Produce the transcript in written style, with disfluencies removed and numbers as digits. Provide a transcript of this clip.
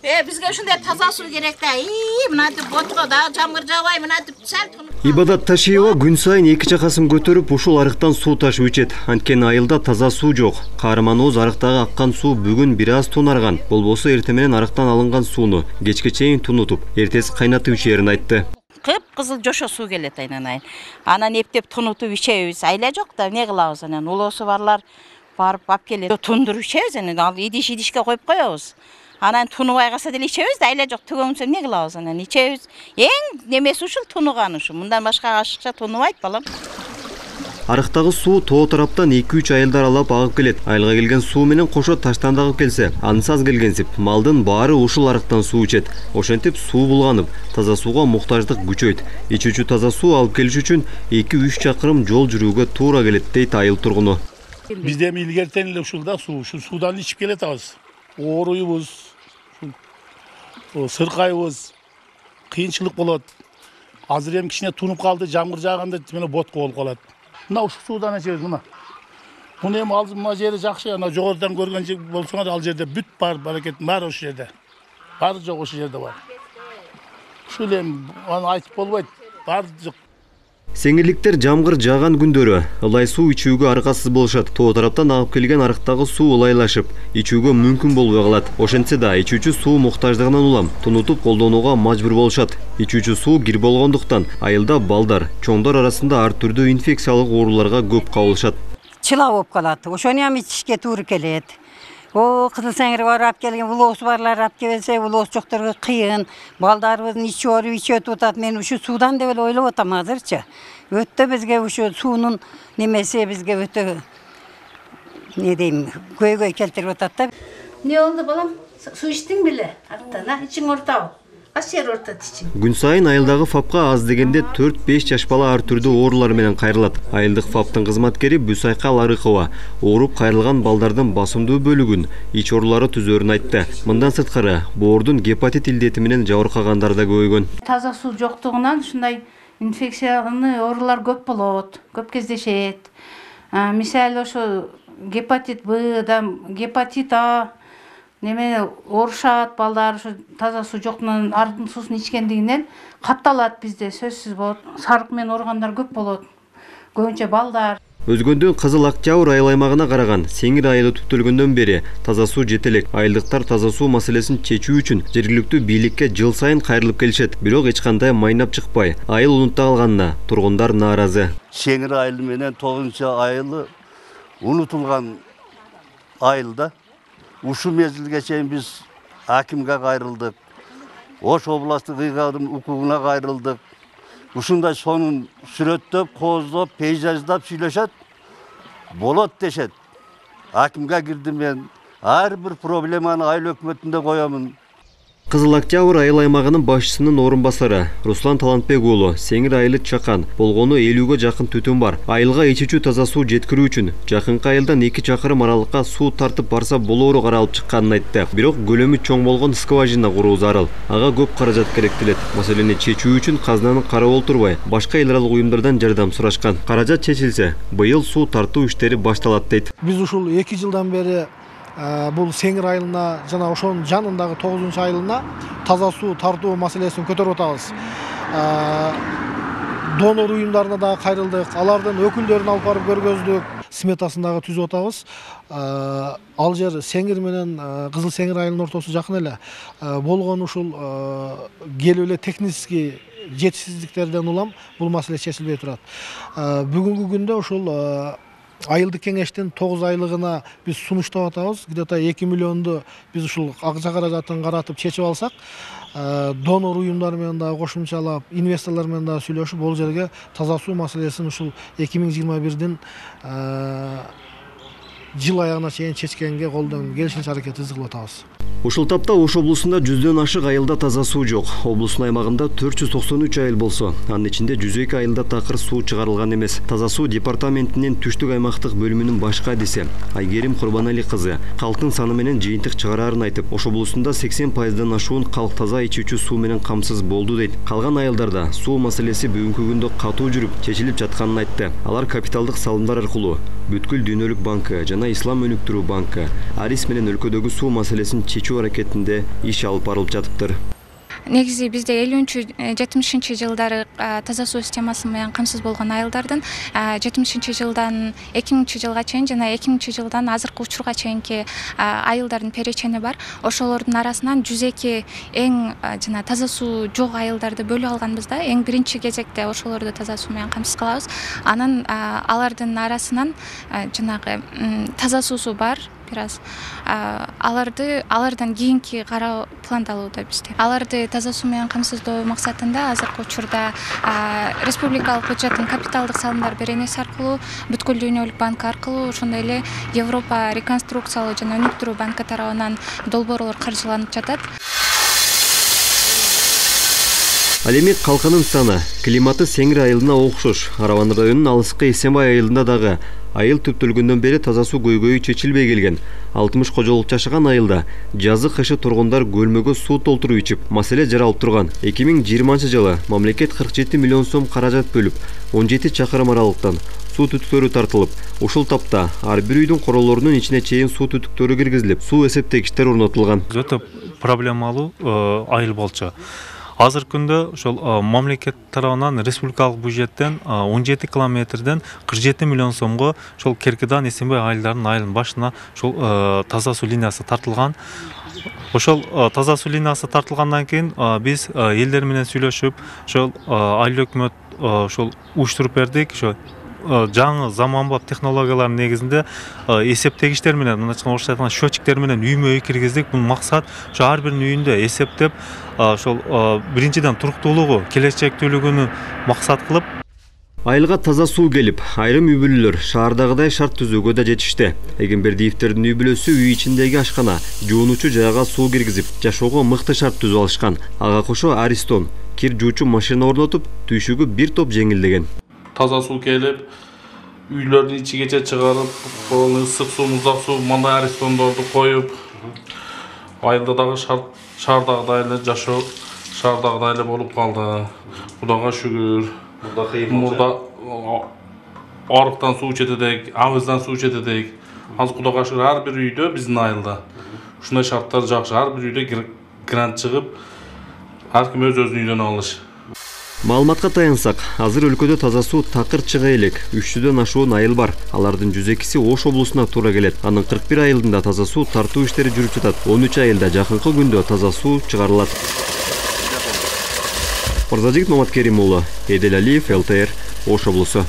Бизге ушундай таза суу керек да. Мынантип ботко да жамгыр жаабай мынантип сәл тунуп. Ибадат Ташиева күн сайын 2 чакасын көтөрүп ушул арыктан суу ташып ичет. Анткени айылда таза суу жок. Каарманыбыз арыктагы аккан суу бүгүн бир аз тунарган. Болбосо эртең менен арыктан алынган сууну кечке чейин тунутуп, эртеси кайнатып ичерин айтты. Кып-кызыл жошо суу келет айнанайын. Анан эптеп тунутуп ичебиз. Айла жок да, эмне кылабыз анан улоосу барлар барып алып келет. Тундуруп ичебиз анан ал идишке коюп коебуз. Анан тунубай калса деле ичебиз да, айла жок төгөңсө эмне кылабыз анан ичебиз. Эң немеси ушул тунуган ушу. Мындан башка ашыкча тунубайт балам. Арыктагы суу тоо тараптан 2-3 айылдар алып агып келет. Айылга келген суу менен кошо таштан дагып келсе, анысы аз келгенсип, малдын баары ушул арыктан суу ичет. Ошентип суу булганып, таза сууга муктаждык күчөйт. Ичүүчү таза суу алып келиш үчүн 2-3 чакырым жол жүрүүгө туура келет дейт айыл тургуну. Бизде илгертен эле ушулда ушул суудан ичип келатабыз. Ооруйбуз, сыркайбыз, кыйынчылык болот. Азыр эми кичине тунуп калды, жамгыр жааганда мына ботко болуп калат. Мына ушул суудан ичебиз мына. Муну эми ал мына жери жакшы, ана жогорудан көргөн болсоңор ал жерде бүт бар баракеттин баары ошол жерде. Баары жок ошол жерде бар. Ушул эми аны айтып болбойт. Баары жок. Сеңирликтер жамгыр жааган күндөрү ылай суу ичүүгө аргасыз болушат. Тоо тараптан агып келген арыктагы суу ылайлашып, ичүүгө мүмкүн болбой калат. Ошентсе да ичүүчү суу муктаждыгынан улам тунутуп колдонууга мажбур болушат. Ичүүчү суу кир болгондуктан айылда балдар, чоңдор арасында ар түрдүү инфекциялык ооруларга көп кабылышат. Чыла болуп калат. Ошону эми ичишке туура келет. Кызыл сеңир барып келген, улоосу барлар алып келсе, улоос жокторго кыйын. Балдарыбыздын ичип атат. Мен ушу суудан деп эле ойлоп атам азырчы. Өтө бизге ушу суунун немеси бизге өтө не дейм, көйгөй келтирип атат да. Не болду балам? Суу ичтиң беле? Арттан, ичиң ортабы? Качы жер ортот ичиң? Күн сайын айылдагы ФАПка аз дегенде 4-5 жаш бала ар түрдүү оорулар менен кайрылат. Айылдык ФАПтын кызматкери Бүсайка Ларыкова ооруп кайрылган балдардын басымдуу бөлүгүн ич оорулары түзөрүн айтты. Мындан сырткары, боордун гепатит илдети менен жабыркагандар да көбөйгөн. Таза суу жоктугунан ушундай инфекциялык оорулар көп болот, көп кездешет. Мисалы ошо гепатит Б, гепатит А неме оорушат балдар ушу таза суу жоктугунан арыктын суусун ичкендигинен катталат бизде сөзсүз болот. Сарык менен ооругандар көп болот. Көбүнчө балдар. Өзгөндөн Кызыл Акчабыр айыл аймагына караган Сеңир айылы түптөлгөндөн бери таза суу жете элек. Айылдыктар таза суу маселесин чечүү үчүн жергиликтүү бийликке жыл сайын кайрылып келишет. Бирок эч кандай майнап чыкпай, айыл унутта калганына тургундар нааразы. Сеңир айылы менен 9-айылы унутулган айылда. Ушул мезгилге чейин биз акимге кайрылдык. Ош областтык ыйгадын укугуна кайрылдык. Ушундай сонун сүрөттөп, кооздоп, пейзаждап сүйлөшөт. Болот дешет. Акимге кирдим мен. Ар бир проблеманы айыл өкмөтүндө коёмун. Кызыл Октябрь айыл аймагынын башчысынын орун басары Руслан Талантбек уулу Сеңир айылы чакан. Болгону 50ге жакын түтүн бар. Айылга ичүүчү таза суу жеткирүү үчүн жакынкы айылдан 2 чакырым аралыкка суу тартып барса болоору каралып чыкканын айтты. Бирок көлөмү чоң болгон скважина куруу зарыл. Ага көп каражат керектелет. Маселени чечүү үчүн казнаны карап олтурбай, башка эл аралык уюмдардан жардам сурашкан. Каражат чечилсе, быйыл суу тартуу иштери башталат дейт. Биз ушул 2 жылдан бери бул Сеңир айылына жана ошонун жанындагы 9-айылына таза суу тартуу маселесин көтөрүп атабыз. Донор уюмдарына да кайрылдык, алардын өкүлдөрүн алып барып көргөздүк, сметасын дагы түзүп атабыз. Ал жер Сеңир менен Кызыл Сеңир айылынын ортосу жакын эле. Болгон ушул келип эле технический жетишсиздиктерден улам бул маселе чечилбей турат. Бүгүнкү күндө ушул айылдык кеңештин 9 айлыгына биз сунуштап атабыз. Где-то 2 миллионду биз ушул акча каражатын каратып чечип алсак, донор уюмдар менен да кошумчалап, инвесторлор менен да сүйлөшүп, бул жерге таза суу маселесин ушул 2021-дин жыл аягына чейин чечкенге колдон келишинче аракетибизди кылып атабыз. Ушул тапта Ош облусунда 100дөн ашык айылда таза суу жок. Облустун аймагында 493 айыл болсо, анын ичинде 102 айылда такыр суу чыгарылган эмес. Таза суу департаментинин түштүк аймактык бөлүмүнүн башкы адиси Айгерим Курбанали кызы калктын саны менен жыйынтык чыгарарын айтып, Ош облусунда 80%дан ашуун калк таза ичүүчү суу менен камсыз болду дейт. Калган айылдарда суу маселеси бүгүнкү күндө катуу жүрүп, чечилип жатканын айтты. Алар капиталдык салымдар аркылуу Бүткүл Дүйнөлүк банкы жана Ислам өнүктүрүү банкы Арис менен өлкөдөгү суу маселесин чечүү аракетинде иш алып барылып жатыптыр. Негизи бизде 50-70 жылдары таза суу системасы менен камсыз болгон айылдардын 70 жылдан 2000 жылга чейин жана 2000 жылдан азыркы учурга чейинки айылдардын перечени бар. Ошолордун арасынан 102 эң жана таза суу жок айылдарды бөлүп алганбыз да. Эң биринчи кезекте ошолорду таза суу менен камсыз кылабыз. Анан алардын арасынан жанагы таза суусу бар бир аз алардан кийинки кароо пландалууда бизде. Аларды таза суу менен камсыздоо максатында азыркы учурда республикалык бюджеттин капиталдык салымдар беренеси аркылуу, Бүткүл Дүйнөлүк банкы аркылуу, ошондой эле Европа реконструкциялоо жана өнүктүрүү банкы тарабынан долбоорлор каржыланып жатат. Ал эми калканын саны климаты Сеңир айылына окшош. Арабан районунун алыскы Эсенбай айылында дагы айыл түптөлгөндөн бери таза суу көйгөйү чечилбей келген. 60 кожолук жашаган айылда жазы кышы тургундар көлмөгө суу толтуруп ичип, маселе жаралып турган. 2020 жылы мамлекет 47 миллион сом каражат бөлүп, 17 чакырым аралыктан суу түтүктөрү тартылып, ушул тапта ар бир үйдүн королорунун ичине чейин суу түтүктөрү киргизилип, суу эсептегичтер орнотулган. Өтө проблемалуу айыл болчу. Азыр күндө ошол мамлекет тарабынан республикалык бюджеттен 17 километрден 47 миллион сомго ошол Керкидан Эсенбай айылдарынын айылынын башына ошол таза суу линиясы тартылган. Ошол таза суу линиясы тартылгандан кийин биз элдер менен сүйлөшүп, ошол айыл өкмөт ошол уюштуруп бердик. Ошо жаңы заманбап технологиялардын негизинде эсептегичтер менен, мындайча орусча айтканда счетчиктер менен үймө үй киргиздик. Бул максат ошо ар биринин үйүндө эсептеп, ошол биринчиден туруктуулугу, келечектүүлүгүнү максат кылып. Айылга таза суу келип, айрым үй бүлөлөр шаардагыдай шарт түзүүгө да жетишти. Эгембердиевтердин үй бүлөсү үй ичиндеги ашкана, жуунуучу жайга суу киргизип, жашоого мыкты шарт түзүп алышкан. Ага кошо Аристон кир жуучу машина орнотуп, түйшүгү бир топ жеңилдеген. Таза суу келип, үйлөрдүн ичигече чыгарып, ысык суу, муздак суу, мындай Аристондорду коюп, айылда дагы шаардагыдай эле жашоо, шаардагыдай эле болуп калды. Кудайга шүгүр. Мурда арыктан суу ичет, абыздан суу ичет. Азыр Кудайга шүгүр ар бир үйдө биздин айылда ушундай шарттар жакшы. Ар бир үйдө грант чыгып, ар ким өз-өзүнүн үйдөн алыш. Маалыматка таянсак, азыр өлкөдө таза суу такыр чыга элек 300дөн ашуун айыл бар. Алардын 102си Ош облусуна туура келет. Анын 41 айылында таза суу тартуу иштери жүрүп жатат. 13 айылда жакынкы күндө таза суу чыгарылат. Мырзажигит Маматкерим уулу, Эдел Алиев, ЛТР, Ош облусу.